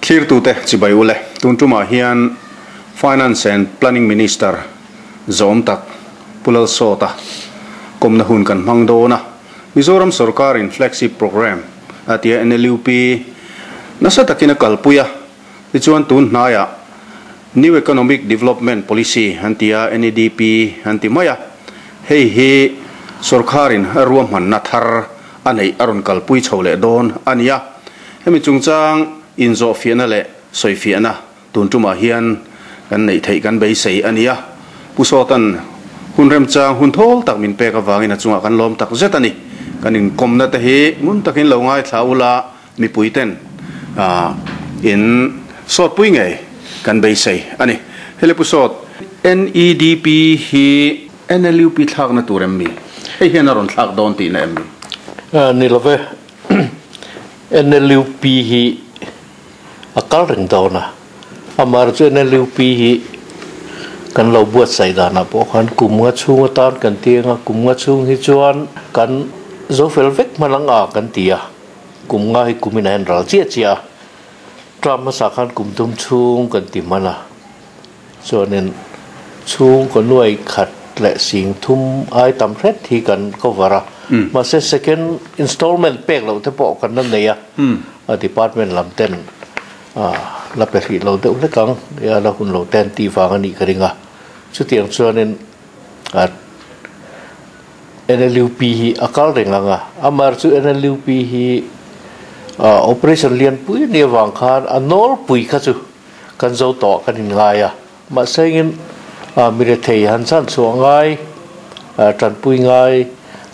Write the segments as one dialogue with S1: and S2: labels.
S1: Thlirtute chibai ule, tun tumah hian Finance and Planning Minister zawm tak Pu Lalsawta kawmna hun kan hmang dawn a. Mizoram sorkarin Flagship Programme a tia NLUP nasa takin a kalpui a, tichuan tun hnaiah New Economic Development Policy an ti a, NEDP an ti mai a, hei hi sorkarin a ruahmanna thar a neih a rawn kalpui chho leh dawn a ni a. Hemi chungchang inzawhfiahna leh sawifiahna tun tumah hian kan neih theih kan beisei a ni a. Pu Sawta'n hun remchang hun thawl tak min pek avangin a chungah kan lawm tak zet a ni. Kan inkawmna te hi ngun takin lo ngaithla ula mipuiten in sawtpui ngei kan beisei a ni. Hele Pu Sawt, NEDP hi NLUP thlakna tur em mi? Hei hian a rawn thlak dawn tihna em mi?
S2: Ni lo ve. NLUP hi a kal reng dawn a, amaherawhchu NLUP hi kan lo buatsaih danah pawh khan kum nga chhung atan kan ti ang a, kum nga chhung hi chuan kan zo fel vek hman ang a kan ti a, kum nga hi kumin a en ral chiah chiah a, term hmasa khan kum thum chhung kan ti hman a. Chuanin chhungkaw nuai khat leh sing thum ai tam hret hi kan cover a, mahse second installment pek loh te pawh kan la nei a, a department lam ten la pe hrih lo deuh hlek ang, a la hun lo te an tih vang a nih ka ring a, chutiang chuanin NLUP hi a kal reng ang a, amaherawhchu NLUP hi operation lianpui a nih avang khan a nawlpui kha chu Kan zo tawh kan in ngai a, mahse engin mi rethei han chhan chhuah ngai, tanpui ngai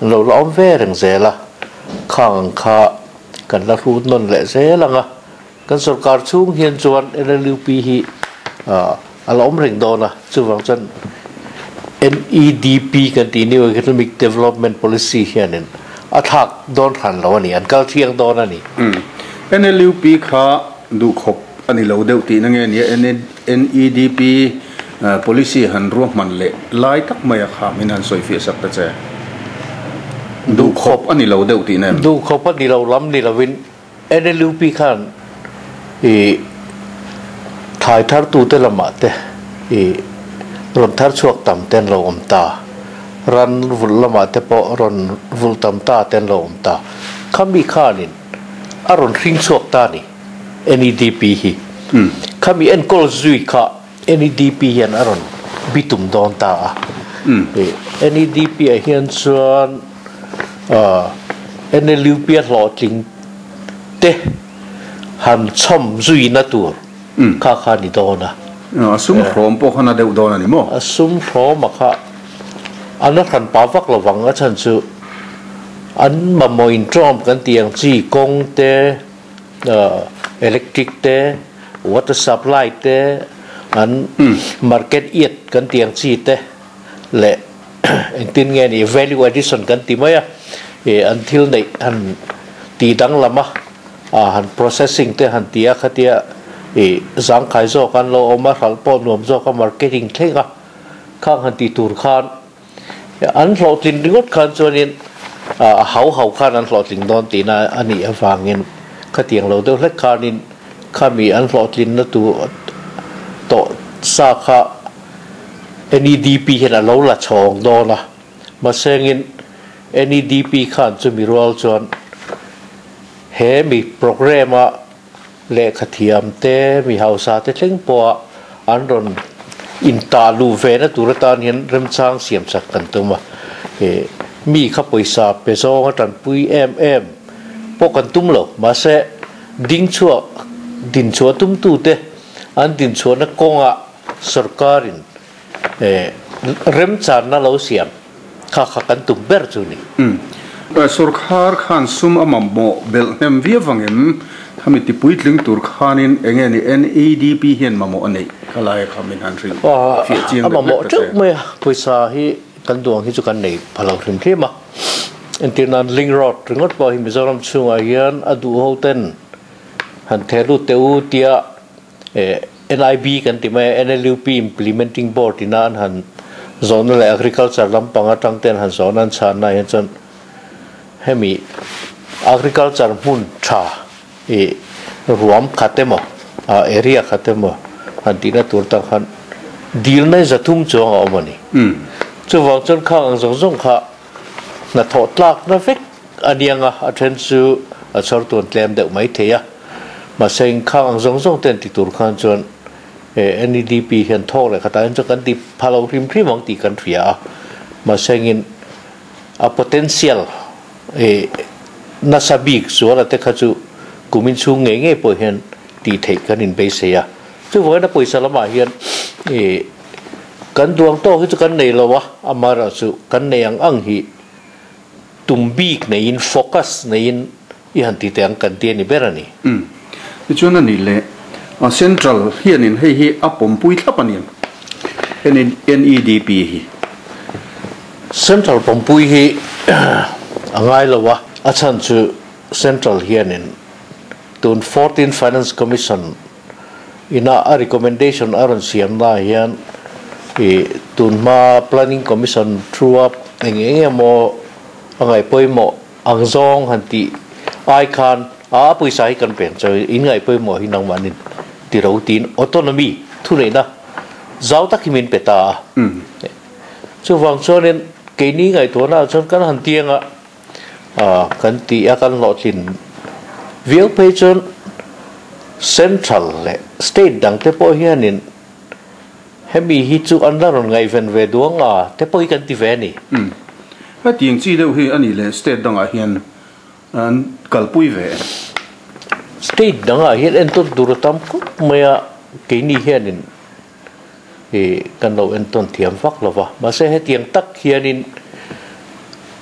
S2: an lo la awm ve reng zel a, khang ang kha kan la hrut nawn leh zel ang a, kan sorkar chhung hian chuan NLUP hi a la awm reng dawn a, chuvang chuan NEDP kan tih New Economic Development Policy hianin a thlak dawn hran lo a ni, an kal thiang dawn a ni.
S1: NLUP kha Duhkhawp a ni lo deuh tihna nge nia NEDP policy han ruahman leh lai tak mai a kha min han sawifiah sak ta che. Duhkhawp a ni lo deuh tihna em?
S2: Duhkhawp a ni lo lam ni lovin NLUP khan i thlai thartute lamah te i rawn thar chhuak tam te an lo awm ta, ran vulh lamah te pawh rawn vulh tam ta te an lo awm ta. Khami khanin a rawn hring chhuak ta a ni, NEDP hi. Khami enkawl zui kha NEDP hian a rawn bitum dawn ta a. NEDP ah hian chuan NLUP a hlawhtling te han chhawm zuina tur kha kha a ni dawn a.
S1: A sum hrawm pawh kha na deuh dawn a ni maw?
S2: A sum hrawm a kha a na hran pah vak lovang a chhan chu. An mamawh inṭawm kan tih ang chi kawng te, electric te, water supply te, an market iat kan tih ang chi te leh engtin nge ni value addition kan ti mai a, ih an thil neih han tih danglam a, han processing te han ti a khatia ih zangkhai zawk an lo awm a, hralh pawh nuam zawk a marketing thleng a khang han tih tur khan An hlawhtlin ringawt khan chuanin a hau hau khan an hlawhtling dawn tihna a nih avangin khatiang lo deuh hlek khanin khami an hlawhtlinna tur tawh sa kha NEDP hian a lo la chhawng dawn a. Mahsengin NEDP khan chumi rual chuan he mi programme-a Lehkha thiam te, mi hausa te thleng pawha an rawn intah luh ve na tur atan hian remchang siam chak kan tum a. He mi kha pawisa pe zawng a tanpui em em pawh kan tum lo. Mahse, ding chhuak, din chhuah tumtu te an din chhuahna kawngah sorkarin remchanna lo siam kha kha kan tum ber chu ni.
S1: Sorkar khan sum a mamawh belh hnem viau vangin khami ti puitling tur khanin eng nge ni NEDP hian mamawh a neih kha lai kha min han hrilh fiah chiang
S2: deuh hlek ta che. A mamawh teuh mai a, pawisa hi kan duang hi chu kan nei pha lo hrim hrim a, entir nan link road ringawt pawh hi Mizoram chhungah hian a duh ho ten han theh lut teh u tia NIB kan ti mai a, NLUP Implementing Board ina an han zawhna leh Agriculture lampang atang te an han zawhna an chhanna ah hian chuan hemi Agriculture hmun tha ih ruam khat emaw area khat emaw han tihna tur tak khan dilna hi 300 chuang a awm a ni. Chuvang chuan khang ang zawng zawng kha hnathawh tlakna vek a niang a, a then chu a chhawr tuan tlem deuh mai thei a. Mahse inkhang ang zawng zawng te an ti tur khan chuan NEDP hian thawk leh khatah hian chuan kan ti pha lo hrim hrim ang tih kan hria a. Mahse engin a potential nasa bik zuala te kha chu kumin chhung ngei ngei pawh hian tih theih kan inbeisei a. Chuvangin a pawisa lamah hian kan duang tawk hi chu kan nei lo a, amaherawhchu kan nei ang ang hi tum bik neiin, focus neiin i han ti teh ang kan ti a ni ber a ni.
S1: Umm. Tichuan a nih leh Central hianin hei hi a pawmpui thlap a ni em? NEDP hi.
S2: Central pawmpui hi a ngai lo a, a chhan chu Central hianin tun Fourteenth Finance Commission ina a recommendation a rawn siam na hian ih tun hma Planning Commission thu a eng eng emaw a ngaih pawimawh ang zawng han tih ai khan a pawisa hi kan peng chawi in ngaih pawimawh hi nangmahnin ti ro tiin autonomy thuneihna zau tak hi min pe ta a. Chuvang chuanin keini ngaihtuahna ah chuan kan han tiang a. Kan tih a kan hlawhtlin viau phei chuan Central leh State dang te pawh hianin hemi hi chu an la rawn ngaihven ve duang a te pawh hi kan ti ve a ni.
S1: Umm. Hetiang chi deuh hi a nih leh State dangah hian an kalpui ve em?
S2: State dangah hian entawn tur a tam khawp mai a, keini hianin ih kan lo entawn thiam vak lo va. Mahse hetiang tak hianin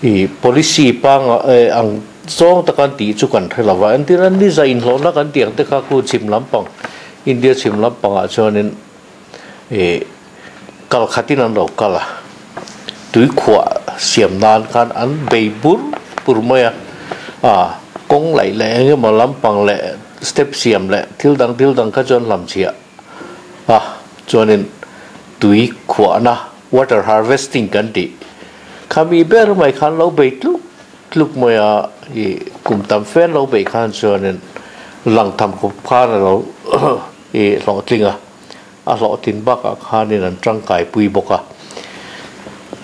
S2: ih policy panga eh ang zawng taka an tih chu kan hre lo va. Entir an ni za inhlawhna kan tih ang te kha khu chhim lampang India chhim lampangah chuanin ih kal khatin an lo kal a. Tuikhuah siam nan khan an bei bur bur mai a. Ah kawng laih leh eng emaw lampang leh step siam leh thil dang thil dang kha chu an hlamchhiah. A chuanin tui khuahna, water harvesting kan tih khami ber mai khan lo bei tluk tluk mai a, ih kum tam fe an lo bei khan chuanin lang tham khawp khan a lo ih hlawhtling a, a hlawhtlin bakah khanin an tangkai pui bawk a.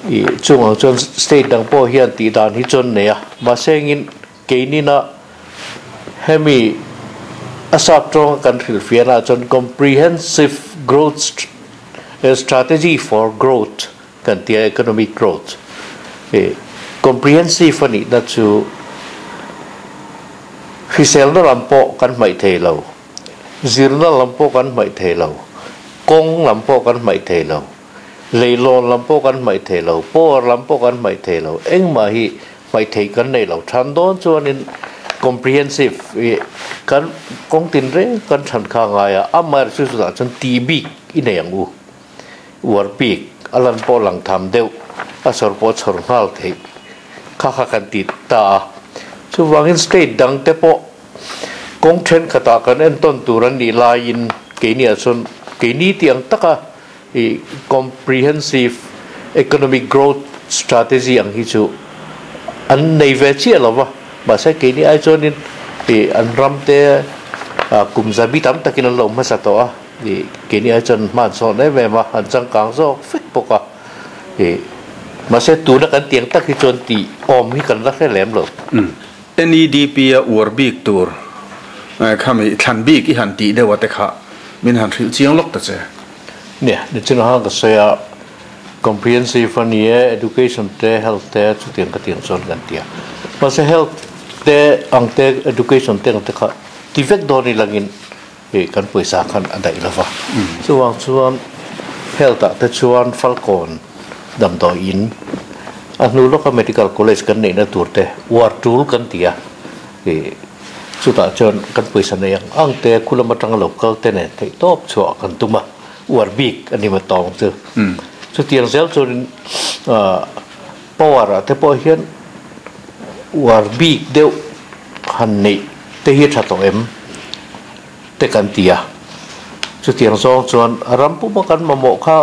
S2: Ih chungah chuan state dang pawh hian tih dan hi chuan nei a, mahse engin Keinina hemi a sap tawnga kan hrilhfiahna ah chuan Comprehensive Growth Strategy for Growth kan ti a, Economic Growth. Comprehensive a nihna chu hriselna lam pawh kan hmaih thei lo, zirna lam pawh kan hmaih thei lo, kawng lam pawh kan hmaih thei lo. Leilawn lam pawh kan hmaih thei lo, power lam pawh kan hmaih thei lo, engmah hi hmaih theih kan nei lo. Than dawn chuanin comprehensive i kan kawng tin reng kan than kha a ngai a, amaherawhchu chu chutah chuan tih bik i nei ang u. Uar bik a lan pawh lang tham deuh, a chhawr pawh a chhawr nghal theih kha kha kan ti ta a. Chuvangin state dang te pawh kawng thenkhatah kan entawn tur an nih laiin keiniah chuan keini tih ang taka I comprehensive economic growth strategy ang hi chu an nei ve chiah lo va, mahse keini ai chuanin i an ram te kum zabi tam takin an lo hmasa tawh a, i keini ai chuan hma an sawn em em a, an changkang zawk vek bawk a, i mahse tuna kan tiang tak hi chuan tih awm hi kan la hre lem lo.
S1: NEDP a uar bik tur khami thlan bik i han tih deuh a te kha min han hrilh chiang lawk ta che.
S2: Nia, nichin a ka sawi a, comprehensive a ni e, education te, health te chutiang ka tiang chuan kan ti a. Mahse health te ang te, education te ang te kha ti vek dawn i langin ih kan pawisa khan a daih lo va. Chuvang chuan health ah te chuan Falkawn damdawi in a hnu lawka medical college kan neihna tur te uar tul kan ti a. Ih chutah chuan kan pawisa nei ang ang te khu lam atanga lo kal te nen theih tawp chhuah kan tum a, uar bik a ni ma tawng chu. Chutiang zel chuanin ah power ah te pawh hian uar bik deuh han neih te hi a tha tawh em te kan ti a. Chutiang zawng chuan ram puma kan mamawh kha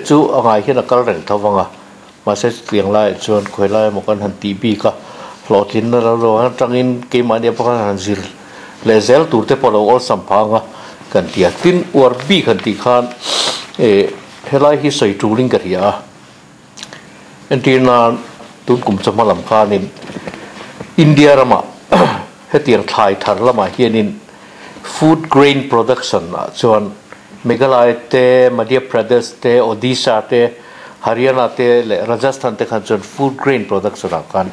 S2: chu a ngai hian a kal reng tho vang a. Mahse chutiang laiah chuan khawi lai emaw kan han tih bik a, hlawhtlinna lo lo atangin keimahni pawh khan han zir leh zel tur te pawh a lo awlsam phah ang a, kan ti a. Tin, uar bik han tih khan helai hi sawi tulin ka hria a. Entir nan tun kum chawhma lam khanin India ramah hetiang thlai thar lamah hianin food grain production ah chuan Meghalaya te, Madhya Pradesh te, Odisha te, Haryana te leh Rajasthan te khan chuan food grain production ah khan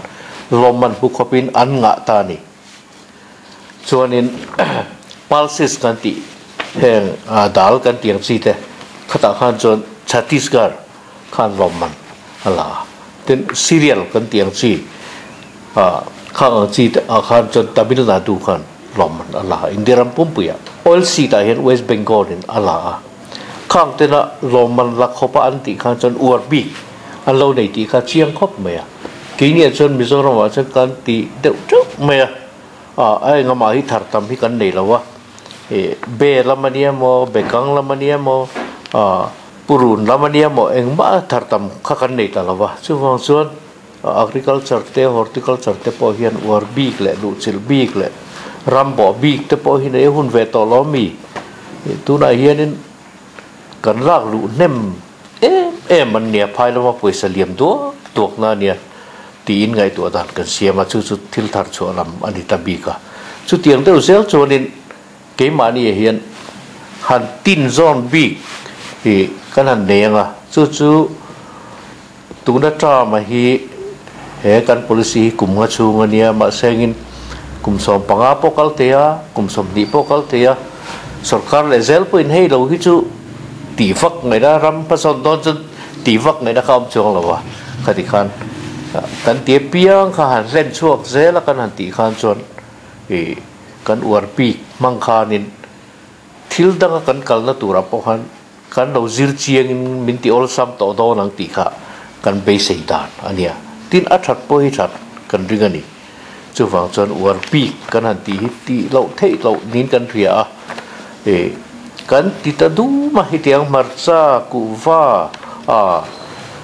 S2: lawmman hmu khawpin an ngah ta a ni. Chuanin pulses kan tih heng dal kan tih ang chi te khatah khan chuan Chhattisgarh khan lawmman a la a. Tin, cereal kan tih ang chi khang ang chi te ah khan chuan Tamil Nadu khan lawmman a la a, India ram pumpuiah. Oil seed ah hian West Bengal in a la a. Khang tena lawmman la khawpa an tih khan chuan uar bik an lo nei tih kha chiang khawp mai a. Keiniah chuan Mizoramah chuan kan ti deuh teuh mai a, a engamah hi thar tam hi kan nei lo a. Be lam a nia maw, bekang lam a nia maw, purun lam a nia maw engmah thar tam kha kan nei ta lo va. Chuvang chuan agriculture te, horticulture te pawh hian uar bik leh luhchilh bik leh ram bawh bik te pawh hi nei a hun ve tawh lo mi. Tunah hianin kan lak luh hnem em em an nia, phai lama pawisa liam duak duak na nia tiin ngaihtuah dan kan siam a, chu chu thil thar chhuah lam a ni ta bik a. Chutiang deuh zel chuanin keimahni ah hian han tin zawn bik hi kan han nei ang a, chu chu tuna term a hi he kan policy hi kum nga chhung a nia, mahse engin kum 15 pawh kal thei a, kum 20 pawh kal thei a, sorkar leh zel pawhin hei lo hi chu tih vak ngaihna ram hmasawn dawn chuan tih vak ngaihna kha a awm chuang lo a, khati khan kan ti apiang kha han hlen chhuak zel a kan han tih khan chuan ih kan uar bik hmang khanin thil danga kan kalna turah pawh khan kan lo zir chiangin min ti awlsam tawh dawn ang tih kha kan beisei dan a nia. Tin, a that pawh hi that kan ring a ni. Chuvang chuan uar bik kan han tih hi tih loh theih loh niin kan hria a. Ih, kan ti ta dum a, hetiang hmarcha, kuhva, a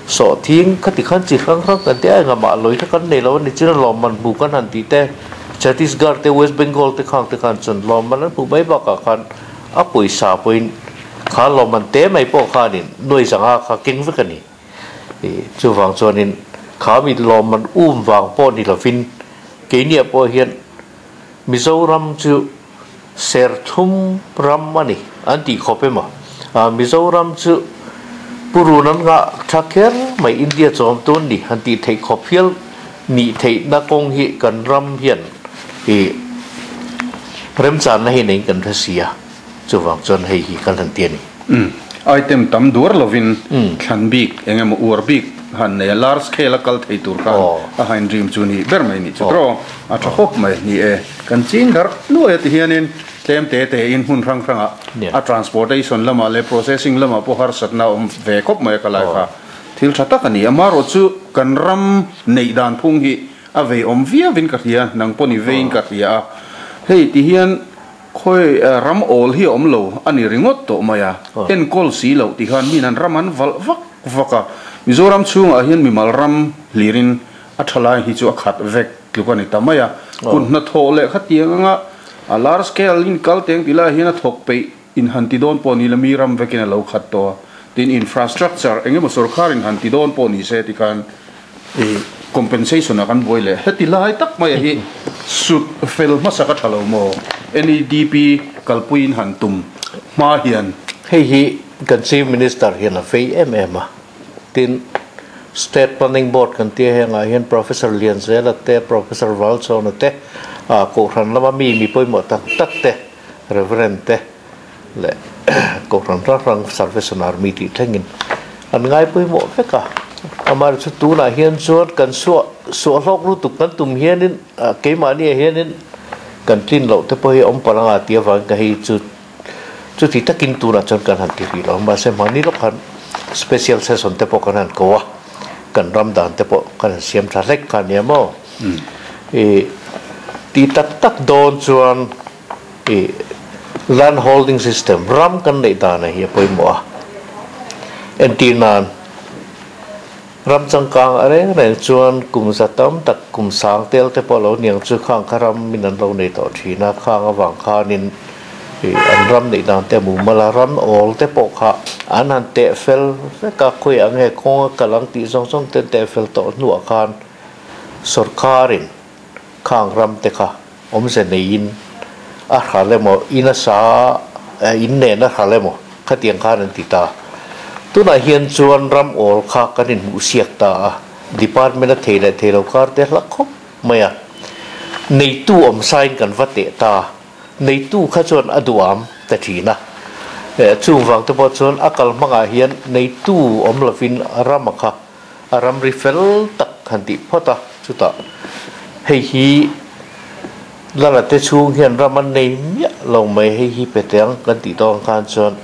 S2: sawhthing khati khan chi hrang hrang kan ti a, engah mah lawi kha kan nei lo a ni. Chuan lawmman hmu kan han tih te, Chhattisgarh te, West Bengal te khang te khan chuan lawmman an hmuh mai bakah khan a pawisa pawhin Kha lawmman te mai pawh khanin nuai zanga kha keng vek a ni. Chuvang chuanin kha mi lawmman um vang pawh ni lovin keiniah pawh hian Mizoram chu serthum ram a ni an tih khawp emaw? Mizoram chu purun an ngah tha kher mai India chawm tun ni han tih theih khawp hial nih theihna kawng hi kan ram hian remchanna hi neiin kan hre si a. Chuvang chuan hei hi kan han ti a ni.
S1: Umm. Item tam duar lovin thlan bik eng emaw uar bik han nei a, large scale a kal thei tur khan a hain dream chu ni ber mai nih chu tawh a tha khawp mai ni e. Kan ching darh nuai a ti hianin tlem te te in hmun hrang hrangah a transportation lamah leh processing lamah pawh harsatna a awm ve khawp mai a ka lai kha thil tha tak a ni. Amaherawh chu kan ram neih dan phung hi a vei awm viauin ka hria, nang pawh ni veiin ka hria a, hei ti hian Khawi ram awl hi a awm lo a ni ringawt tawh mai a, enkawl si loh ti khan min an ram an valh vak vak a, Mizoram chhungah hian mimal ram hlirin a tha lai hi chu a khat vek tluk a ni ta mai a, kut hnathawh leh khatiang anga a large scale in kal teng ti lai hian a thawk peih in han ti dawn pawh ni la mi ram vekin a lo khat tawh a, tin infrastructure eng emaw sorkar in han ti dawn pawh ni se ti khan I compensation ah kan buai leh heti lai tak mai a hi sut fel hmasa ka tha lo maw? NEDP kalpui in han tum hma hian.
S2: Hei hi kan Chief Minister hian a vei em em a, tin State Planning Board kan tia hengah hian Professor Lianzela te, Professor Valchawna te, Kohhran lama mi mi pawimawh tak tak te, Reverend te leh Kohhran hrang hrang Salvation Army tih thlengin an ngai pawimawh vek a. Amaherawhchu tunah hian chuan kan suah suah hlawk lutuk kan tum hianin keimahniah hianin kan tlin loh te pawh hi awm palh anga tih avangin ka hei chu chuti takin tunah chuan kan han ti rih lo. Mahse mahni lawk khan special session te pawh kan han ko a, kan ram dan te pawh kan han siam tha hlek kha nia maw? Ih tih tak tak dawn chuan I land holding system, ram kan neih dan hi a pawimawh a. Entir nan, ram changkang a reng reng chuan kum za tam tak, kum sang tel te pawh lo niang chu khang kha ram min an lo nei tawh thin a, khang avang khanin An ram neih dan te a mumal a, ram awl te pawh kha an han teh fel vek a, khawiah nge kawng a kal ang tih zawng zawng te an teh fel tawh hnuah khan sawrkarin khang ram te kha awmze neiin a hral emaw in a sa in nen a hral emaw khatiang khan an ti ta. Tunah hian chuan ram awl kha kan inhmuhsiak ta a, department a thei leh thei lo kar te hla khawp mai a, neitu awm sain kan va teh ta. Neitu kha chuan a duham ta thin a, chung vang te pawh chuan a kal hmangah hian neitu awm lovin rama kha a ramri fel tak han tih phawt a, chutah hei hi Lala te chhung hian ram an nei miah lo mai, hei hi pe teh ang kan tih tawk ang khan chuan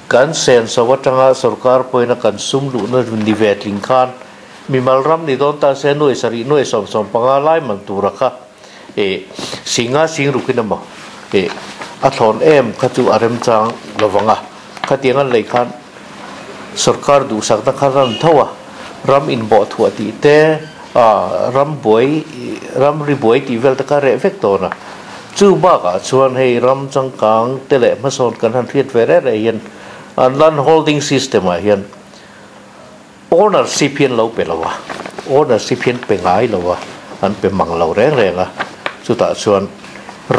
S2: kan senso atanga sorkar pawhin a kan sum luhna ni ve tling khan mimal ram ni dawn ta se nuai sarih nuai 75 lai man tura kha E singa sing rukin emaw e a thlawn em kha chu a remchang lovang a, khatiang an lei khan sorkar duhsakna kha ran tho a, ram inbawh thuah tih te a ram buai ram ri buai tih vel te kha reh vek dawn a, chu bakah chuan hei ram changkang te leh hmasawn kan han hriat ve reh reh hian an land holding system ah hian Ownership hi an lo pe lo a, ownership hi an pe ngai lo a, an pe mang lo reng reng a, chutah chuan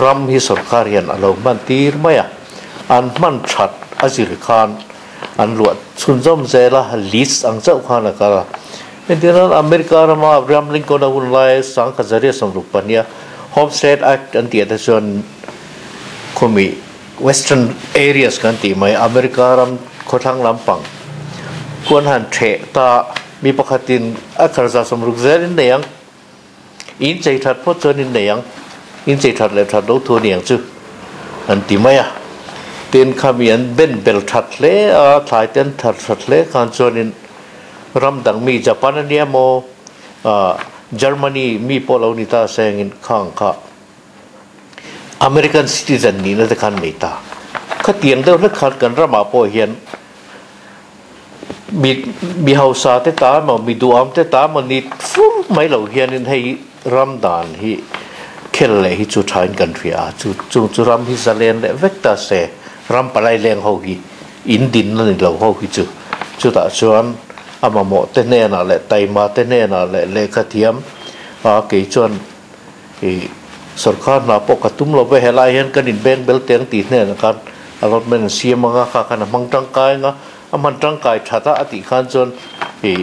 S2: ram hi sorkar hian a lo hman tir mai a, an hman that a zir khan an luah chhunzawm zel a, lease ang chauh khan a kal a. Entirnan America rama Abraham Lincoln a hun lai 1862 a Homestead Act an tih ah te chuan khawmi Western areas kan tih mai America ram khawthlang lampang kuan han theh ta mi pakhatin a kharza 60 zel in nei ang in chei that phawt chuan in nei ang in chei that leh that lo thu a ni ang chu an ti mai a tin khami an ben bel that hle a thlai te an thar that hle khan chuanin ram dang mi Japan a nia maw Germany mi pawh lo ni ta sengin khang kha American citizen nihna te khan nei ta. Khatiang deuh hlek khan kan ramah pawh hian mi mi hausa te ta emaw mi duham te ta emaw ni fur mai lo hianin hei ram dan hi khel leh hi chu thain kan hria a, chu chung chu ram hi zalen leh vek ta se ram palai leng ho hi in dinna ni lo ho hi chu chutah chuan a mamawh te hnenah leh taima te hnenah leh lehkha thiam a kei chuan I sorkar hna pawh ka tum lo ve, helai hian kan inbeng bel teng tih hnenah khan allotment an siam anga kha khan a hmang tangkai anga a hman tangkai that a a tih khan chuan i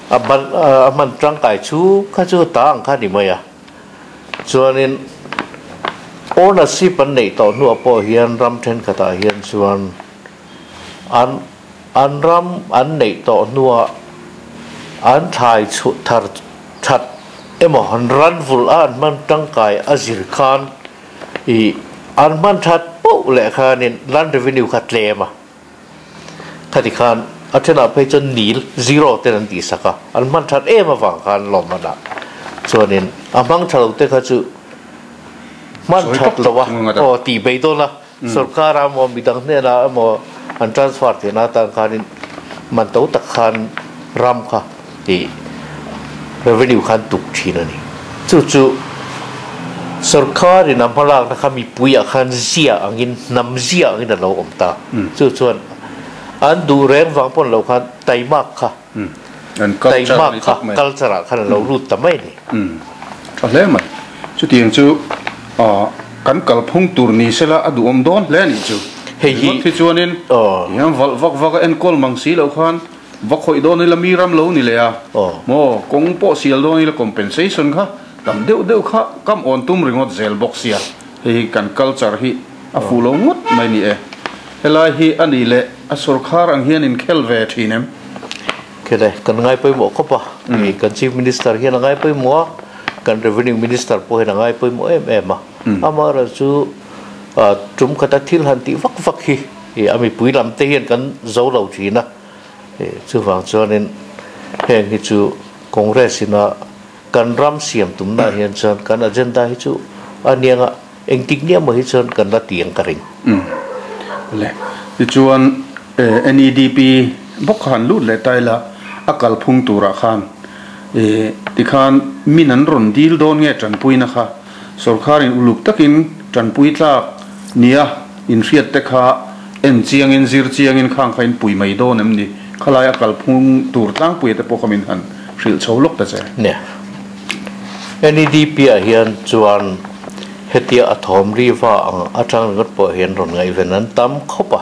S2: a ban a hman tangkai chu kha chu ta ang kha a ni mai a. Chuanin ownership an neih tawh hnuah pawh hian ram thenkhatah hian chuan an an ram an neih tawh hnuah an thlai chhuh thar that emaw an ran vulh a an hman tangkai a zir khan ih an hman that poh leh khanin land revenue kha tlem a, khati khan a thenah phei chuan nil, zero, ten an tihsak a, an hman that em avang khan lawmman ah chuanin a hmang tha lo te kha chu hman that lo a aw tih bei dawn a. Sorkar ah emaw midang hnenah emaw an transfer theihna atan khanin man to tak khan ram kha ih revenue khan tuk thin a ni. Chu chu sorkar in a hmalakna kha mipui ah khan zia angin hnam zia angin a lo awm ta. Chu chuan an duh reng vang pawn lo khan taimak kha taimak kha culture ah khan a lo lut ta mai a ni.
S1: Tha hle mai. Chutiang chu kan kalphung tur ni sela a duhawm dawn hle a nih chu.
S2: Hei hi
S1: Ringawt hi chuanin hian valh vak vak a enkawl mang si loh khan va khawih dawn ila mi ram lo ni leh a. Maw kawng pawh sial dawn ila compensation kha tam deuh deuh kha kam awn tum ringawt zel bawk sia. Hei hi kan culture hi a fuh lo ngawt mai ni e. Helai hi a nih leh a sorkhar ang hian inkhel ve thin em?
S2: Khele, kan ngai pawimawh khawp a, kan Chief Minister hian a ngai pawimawh a, kan Revenue Minister pawh hian a ngai pawimawh em em a. Amaherawh chu tum khata thil han tih vak vak hi a mipui lam te hian kan zo lo thin a, chuvang chuanin heng hi chu Congress ina kan ram siam tumna hian chuan kan agenda hi chu a nianga Engtik nia maw hi chuan kan la ti ang ka ring.
S1: Le, tichuan NEDP bawk kha han lut leh ta ila, a kalphung turah khan tikhan min an rawn dil dawn nge tanpuina kha sorkharin uluk takin tanpui tlak Nia, in hriat te kha en chiangin zir chiangin khang kha in pui mai dawn em ni? Khalai a kalphung tur tlangpuia te pawh kha min han hrilh chho lawk ta che.
S2: Nia, NEDP ah hian chuan hetia a thawm ri va ang atang ringawt pawh hian rawn ngaihven an tam khawp a.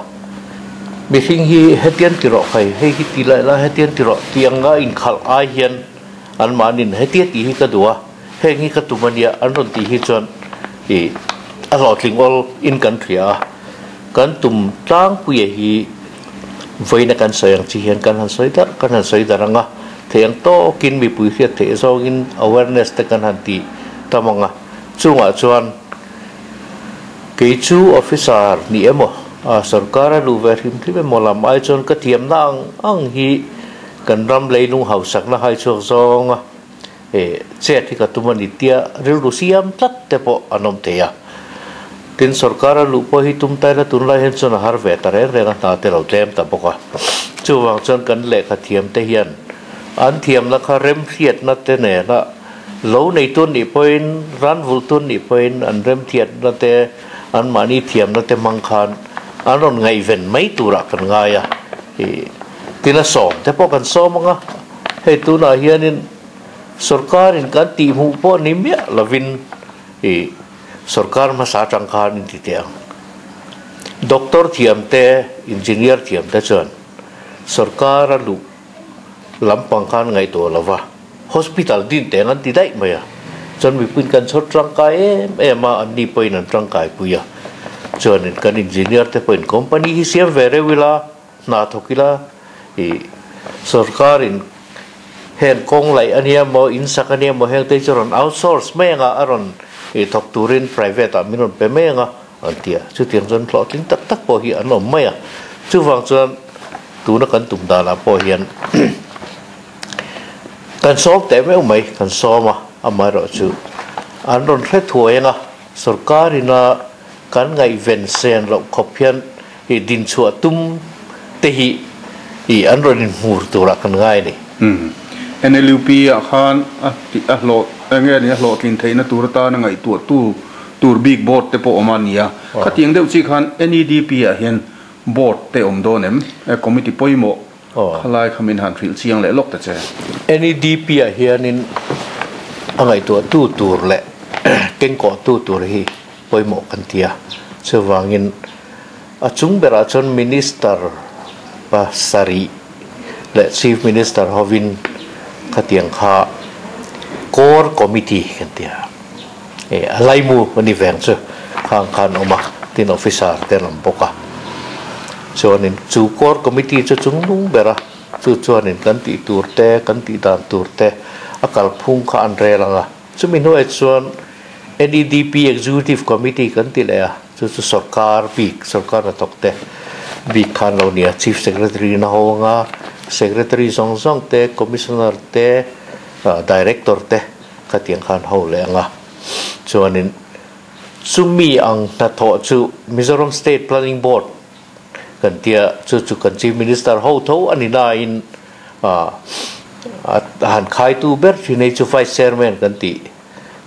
S2: Mihring hi hetian ti rawh khai, hei hi ti laih la hetian ti rawh tih anga inkhalh ai hian anmahnin hetia tih hi ka duh a. Heng hi ka tum a nia, an rawn tih hi chuan ih a hlawhtling awl in kan hria a, kan tum tlangpuia hi vawiina kan sawi ang chi hian kan han sawi darh kan han sawi darh ang a, thei ang tawkin mipui hriat theih zawngin awareness te kan han ti tam ang a, chungah chuan kei chu officer ni emaw a sorkar a luh ve hrim hrim emaw lam ai chuan ka thiamna ang ang hi kan ram leilung hausakna hai chhuak zawng a. He chet hi ka tum a ni tia rilru siam tlat te pawh an awm thei a. Tin, sorkar a luh pawh hi tum taina tunlai hian chuan a har ve ta reng reng a, hna te lo tlem ta bawk a. Chuvang chuan kan lehkha thiam te hian an thiamna kha remhriatna te nena lo neitu an nih pawhin, ran vulhtu an nih pawhin an remthiatna te, anmahni thiamna te hmang khan an rawn ngaihven mai turah kan ngai a. Tin, a sawm te pawh kan sawm ang a. Hei tunah hianin sorkarin kan tihhmuh pawh ni miah lovin ih sorkar hmasa atang khan in ti teh ang. Doctor thiam te, engineer thiam te chuan sorkar a luh lampang khan ngaihtuah lo va, hospital din teng an ti daih mai a. Chuan mipuiin kan chhawr tangkai em em a, anni pawhin an tangkai pui a. Chuanin kan engineer te pawhin company hi siam ve reuh ila, Hna thawk ila ih sorkarin heng kawng laih a nia maw, in sak a nia maw heng te hi chu rawn outsource mai anga a rawn ih thawk turin private ah min rawn pe mai anga an ti a. Chutiang chuan hlawhtling tak tak pawh hi an awm mai a. Chuvang chuan tuna kan tum danah pawh hian kan sawm teh meuh mai, kan sawm a, amaherawhchu an rawn hre thuai anga sorkarina kan ngaihven sen loh khawp hian i dinchhuah tum te hi i an rawn inhmur turah kan ngai a ni.
S1: NLUP ah khan a a hlawh eng nge ni a hlawhtlin theihna tur atana ngaihtuah tu tur bik board te pawh awm a ni a. Khatiang deuh chi khan NEDP ah hian board te awm dawn em? Committee pawimawh khalai kha min han hrilh chiang leh lawk ta che.
S2: NEDP ah hianin a ngaihtuah tu tur leh kengkawh tu tur hi pawimawh kan ti a, chuvangin a chung berah chuan Minister pasarih leh Chief Minister hovin khatiang kha Core Committee kan ti a, eh a laimu a ni veng chu khang khan awm a, tin officer te an awm bawk a, chuanin chu Core Committee chu chungnung ber a, chu chuanin kan tih tur te, kan tih dan tur te a kalphung kha an rel ang a. Chumi hnuaiah chuan NEDP Executive Committee kan ti leh a, chu chu sorkar bik, sorkar hnathawk te bik khan lo nia, Chief Secretary na ho anga Secretary zawng zawng te, Commissioner te, Director te khatiang khan ho leh anga. Chuanin chumi ang hnathawh chu Mizoram State Planning Board kan tia, chu chu kan Chief Minister ho tho a ni nain A han khaitu ber thin hei chu Vice Chairman kan tih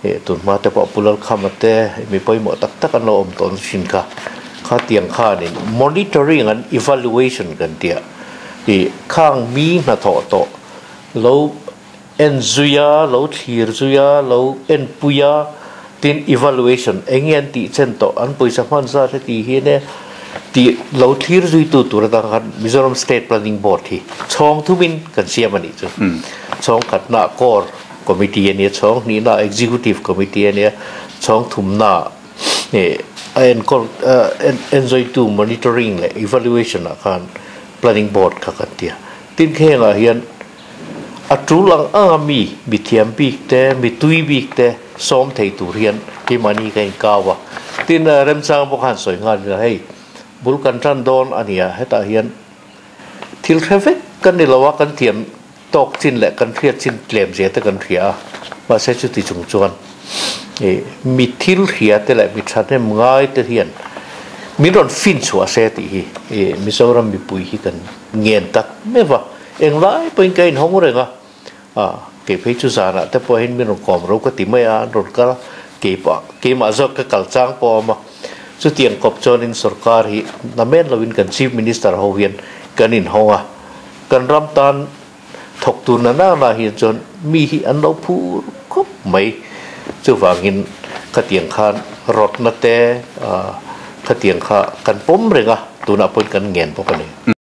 S2: eh tun hma te pawh Pu Lalkhama te mi pawimawh tak tak an lo awm tawn thin kha. Khatiang khanin monitoring and evaluation kan tih a ih khang mi hnathawh tawh lo en zui a, lo thlir zui a, lo en pui a tin evaluation eng nge an tih chen tawh an pawisa hman zat heti hian e Tih lo thlir zuitu tur atang khan Mizoram State Planning Board hi chhawng thumin kan siam a nih chu. Chhawng khatna Core Committee a nia, chhawng hnihna Executive Committee a nia, chhawng thumna a enkawl enzawitu Monitoring leh Evaluation ah khan Planning Board kha kan ti a. Tin khengah hian A tul ang ang a mi, mi thiam bik te, mi tui bik te sawm thei tur hian keimahni ka inkau a. Tin, remchang bawk khan sawi nghal ila hei, bul kan tan dawn a nia, hetah hian thil hre vek kan ni lo a, kan thiam tawk chin leh kan hriat chin tlem zia te kan hria a, mahse chuti chung chuan ih mi thil hria te leh mi thahnem ngai te hian min rawn fin chhuah se tih hi ih Mizoram mipui hi kan ngen tak meuh a. Englai pawhin ka inhawng reng a, ah kei phei chu zanah te pawhin min rawn kawm ro ka ti mai a, an rawn kal a, keipah keimah zawk ka kal chang pawh a awm a. Chutiang kawp chuanin sorkar hi namen lovin kan Chief Minister ho hian kan inhawng a, kan ram tan thawk tur na na na hian chuan mi hi an lo phur khawp mai. Chuvangin khatiang khan rawtna te khatiang kha kan pawm reng a, tunah pawhin kan ngen bawk a ni.